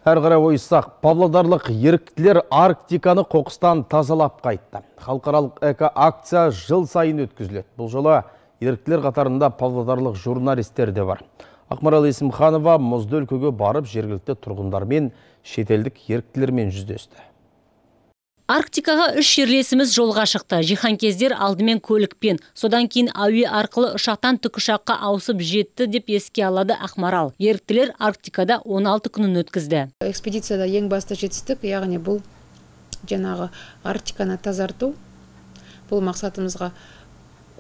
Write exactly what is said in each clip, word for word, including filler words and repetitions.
Әрі қарай ойыссақ, павлодарлық еріктілер Арктиканы қоқыстан тазалап қайтты. Халықаралық эко-акция жыл сайын өткізіледі. Бұл жолы еріктілер қатарында павлодарлық журналистер де бар. Ақмарал Есімханова мұзды өлкөге барып жергілікті тұрғындармен, шетелдік еріктілермен жүздесті. Арктикаға үш жерлесіміз жолға шықты. Жиһанкездер алдымен көлікпен, содан кейін әуе арқылы ұшақтан тікұшаққа ауысып жетті деп еске алады Ақмарал. Еріктілер Арктикада он алты күнін өткізді. Экспедицияда ең басты жетістік, яғни бұл жаңағы Арктиканы тазарту. Бұл мақсатымызға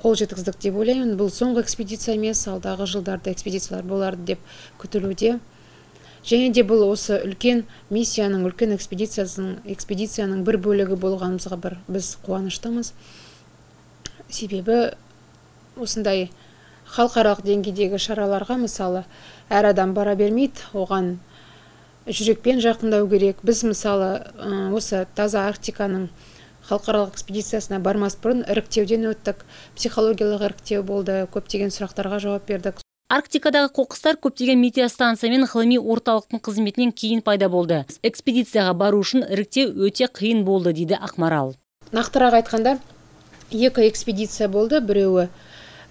қол жеткіздік деп ойлаймын. Бұл соңғы экспедиция емес, алдағы жылдарда экспедициялар боларды деп күтілуде. Және де бұл осы үлкен миссияның, үлкен экспедицияның, экспедицияның бір бөлігі болғанымызға бір біз қуаныштымыз. Себебі осындай халықаралық деңгейдегі шараларға, мысалы, әр адам бара бермейді, оған жүрекпен жақындау керек. Біз мысалы осы таза Арктиканың халықаралық экспедициясына бармас бұрын іріктеуден өттік, психологиялық іріктеу болды, көптеген сұрақтарға жауап бердік. Арктикадағы қоқыстар көптеген метеостанция мен ғылыми орталықтың қызметінен кейін пайда болды. Экспедицияға бару үшін іріктеу өте қиын болды, дейді Ақмарал. Нақтырақ айтқанда, екі экспедиция болды. Біреуі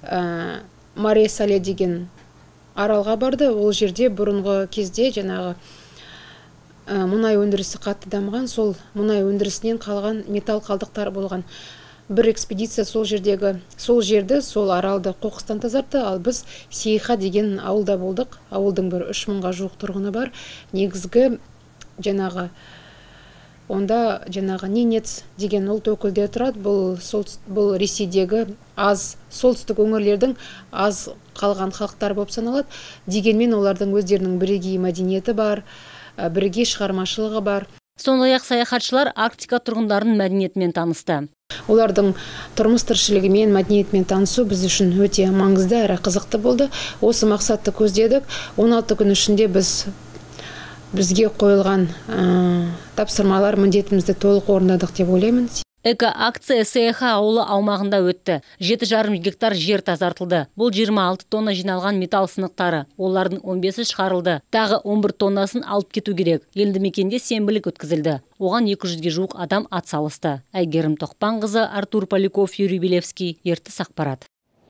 ә, Маре-Сале деген аралға барды. Ол жерде бұрынғы кезде жаңағы ә, мұнай өндірісі қатты дамыған, сол мұнай өндірісінен қалған металл қалдықтар болған. Бір экспедиция сол жердегі, сол жерді, сол аралды қоқыстан тазартты, ал біз Сейха деген ауылда болдық. Ауылдың бір үш мыңға жуық тұрғыны бар. Негізгі жаңағы онда жаңағы Ненец деген ұлт өкілдері тұрады. Бұл сол бұл Ресейдегі аз солтүстік өңірлердің аз қалған халықтар болып саналады. Дегенмен олардың өздерінің бірегей мәдениеті бар, бірегей шығармашылығы бар. Сондай-ақ саяхатшылар Арктика тұрғындарының мәдениетімен танысты. Олардың тұрмыс тіршілігімен, мәдениетімен танысу біз үшін өте маңызды әрі қызықты болды. Осы мақсатты көздедік. он алты күн ішінде біз бізге қойылған ә, тапсырмалар, міндетімізді толық орындадық деп ойлаймын. Эко-акция Сейха ауылы аумағында өтті. жеті жарым гектар жер тазартылды. Бұл жиырма алты тонна жиналған металл сынықтары. Олардың он бесі шығарылды. Тағы он бір тоннасын алып кету керек. Елді мекенде сенбілік өткізілді. Оған екі жүзге жуық адам атсалысты. Әйгерім Тоқпанқызы, Артур Поляков, Юрий Белевский, Ертіс ақпарат.